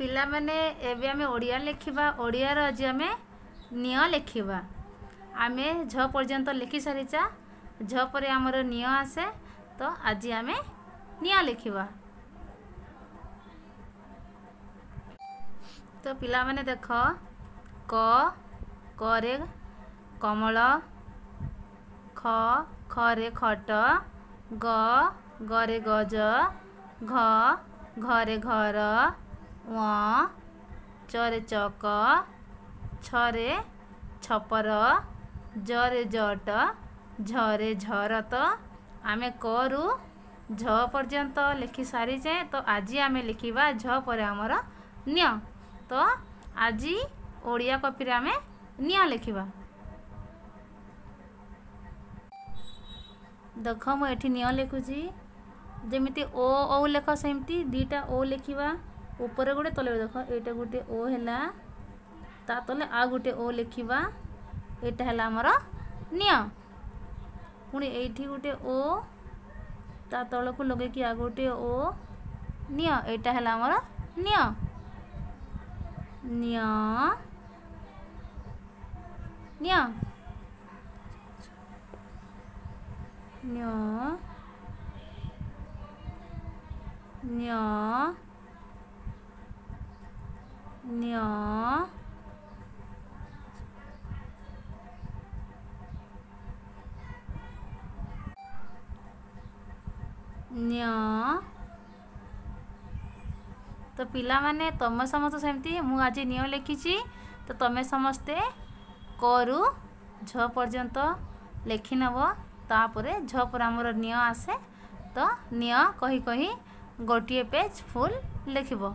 ପିଲାମାନେ, ଏବେ ଆମେ ଓଡ଼ିଆ ଲେଖିବା। ଓଡ଼ିଆର ଆଜି ଆମେ ନିଅ ଲେଖିବା। ଆମେ ଝ ପର୍ଯ୍ୟନ୍ତ ଲେଖି ସାରିଛା। ଝ ପରେ ଆମର ନିଅ ଆସେ, ତ ଆଜି ଆମେ ନିଅ ଲେଖିବା। ତ ପିଲାମାନେ ଦେଖ, କ, କରେ କମଳ, ଖ, ଖରେ ଖଟ, ଗ, ଗରେ ଗଜ, ଘ, ଘରେ ଘର, ଚରେ ଚକ, ଛରେ ଛପର, ଜରେ ଜଟ, ଝରେ ଝର। ତ ଆମେ କରୁ ଝ ପର୍ଯ୍ୟନ୍ତ ଲେଖି ସାରିଛେ, ତ ଆଜି ଆମେ ଲେଖିବା ଝ ପରେ ଆମର ନିଅ। ତ ଆଜି ଓଡ଼ିଆ କପିରେ ଆମେ ନିଅ ଲେଖିବା। ଦେଖ, ମୁଁ ଏଠି ନିଅ ଲେଖୁଛି। ଯେମିତି ଓ ଔ ଲେଖ, ସେମିତି ଦୁଇଟା ଓ ଲେଖିବା, ଉପରେ ଗୋଟେ, ତଲେ। ଦେଖ, ଏଇଟା ଗୋଟେ ଓ ହେଲା, ତା ତଲେ ଆଉ ଗୋଟେ ଓ ଲେଖିବା। ଏଇଟା ହେଲା ଆମର ନିଅ। ପୁଣି ଏଇଠି ଗୋଟେ ଓ, ତା ତଳକୁ ଲଗେଇକି ଆଉ ଗୋଟେ ଓ, ନିଅ। ଏଇଟା ହେଲା ଆମର ନିଅ। ନିଅ, ନିଅ, ନ୍ୟ, ନ୍ୟ, ନ୍ୟ, ନ୍ୟ। ତ ପିଲାମାନେ, ତମେ ସମସ୍ତେ ସେମିତି, ମୁଁ ଆଜି ନିଅ ଲେଖିଛି, ତ ତମେ ସମସ୍ତେ କରୁ ଝ ପର୍ଯ୍ୟନ୍ତ ଲେଖିନେବ। ତାପରେ ଝ ପରେ ଆମର ନିଅ ଆସେ, ତ ନିଅ କହି କହି ଗୋଟିଏ ପେଜ୍ ଫୁଲ୍ ଲେଖିବ।